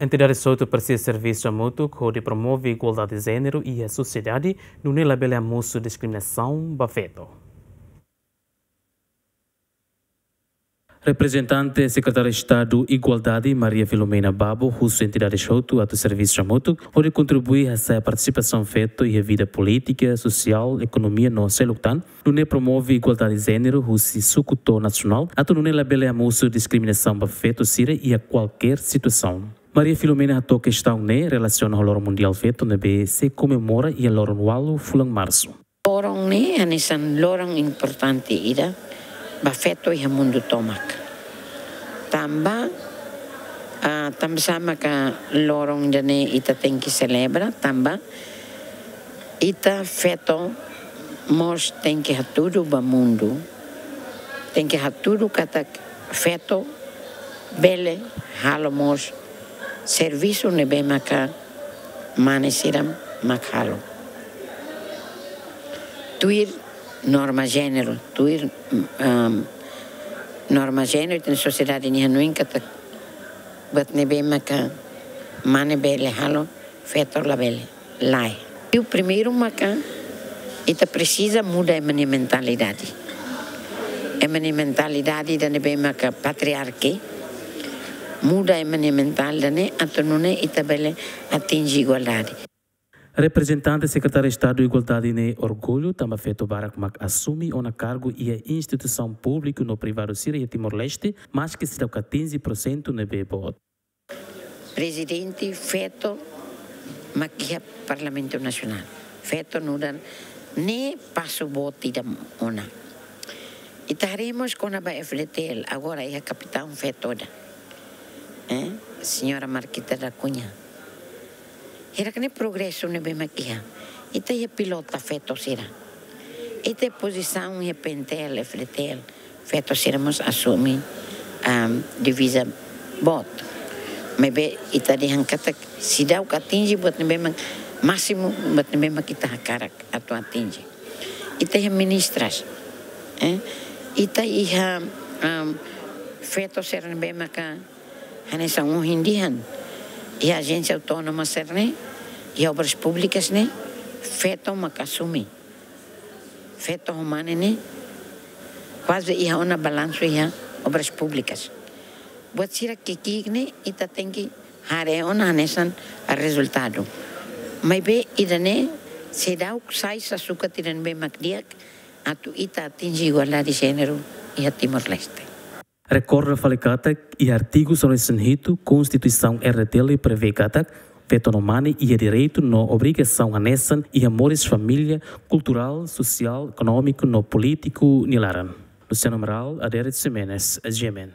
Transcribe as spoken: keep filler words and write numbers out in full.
Entidades hotu presiza servisu hamutuk hodi promove igualdade jéneru iha sosiedade, nune'e labele hamosu diskriminasaun ba feto. Reprezentante Sekretária Estadu Igualdade, Maria Filomena Babo, husu entidades hotu atu servisu hamutuk hodi kontribui hasa'e partisipasaun feto iha vida polítika, sosiál, ekonomia no seluk tan, nune'e promove igualdade jéneru husi suku to'o nasionál, atu nune'e labele hamosu diskriminasaun ba feto sira iha kualkér situasaun. Maria Filomena hato'o kestaun ne'e relasiona ho Loron Mundiál Feto ne'ebé sei komemora iha loron ualu fulan Marsu. Loron ne'e hanesan loron importante ida ba feto iha mundu tomak. Tanba, ah, tanba sá maka loron ida-ne'e ita tenke selebra, tanba ita feto mós tenke hatudu ba mundu, tenke hatudu katak feto bele halo mós servisu ne'ebé maka mane sira mak halo. Tuir norma jéneru, tuir, ehm, norma jéneru, ita-nia sosiedade nia hanoin katak buat ne'ebé maka mane bele halo, feto labele, lae. I primeiru maka ita presiza muda ema nia mentalidade. Ema nia mentalidade ida ne'ebé maka patriarki, muda ema nia mentalidade ne'e atu nune'e ita bele atinje igualdade. Reprezentante Sekretária Estadu Igualdade ne'e orgullu tanba feto barak mak asume ona kargu iha instituisaun públiku no privadu sira iha Timor-Leste, maske seidauk atinje porsentu ne'ebé boot. Prezidente feto mak iha Parlamentu Nasionál. Feto nu'udar ne'e pasu boot ida ona. Ita haree mós kona-ba F D T L, agora iha kapitaun feto ida. Eh, señora Marquita da Cunha. Hirak ne'e progresu ne'ebé mak iha. Ita iha pilota feto sira. Ita pozisaun iha P N T L, F D T L, feto sira mós asume, am, diviza boot. Maibé ita dehan katak seidauk atinje buat ne'ebé mak másimu, buat ne'ebé mak ita hakarak atu atinje. Ita iha ministras, eh? Ita iha, am, feto sira ne'ebé maka hanesan ohin dehan, iha ajénsia autónoma sira-ne'e, iha obras públikas ne'e, feto mak asume. Feto ho mane ne'e kuaze iha ona balansu iha obras públikas. Buat sira ki'ik-ki'ik ne'e ita tenke haree ona hanesan rezultadu. Maibé ida-ne'e seidauk sai sasukat ida ne'ebé mak di'ak atu ita atinje igualdade jéneru iha Timor-Leste. Rekorda fali katak iha artigu sanulu-resin-hitu Konstituisaun R D T L prevee katak feto no mane iha direitu no obrigasaun hanesan iha moris família, kulturál, sosiál, ekonómiku no polítiku nia laran. Luciano Amaral, Aderet Ximenes, G M N.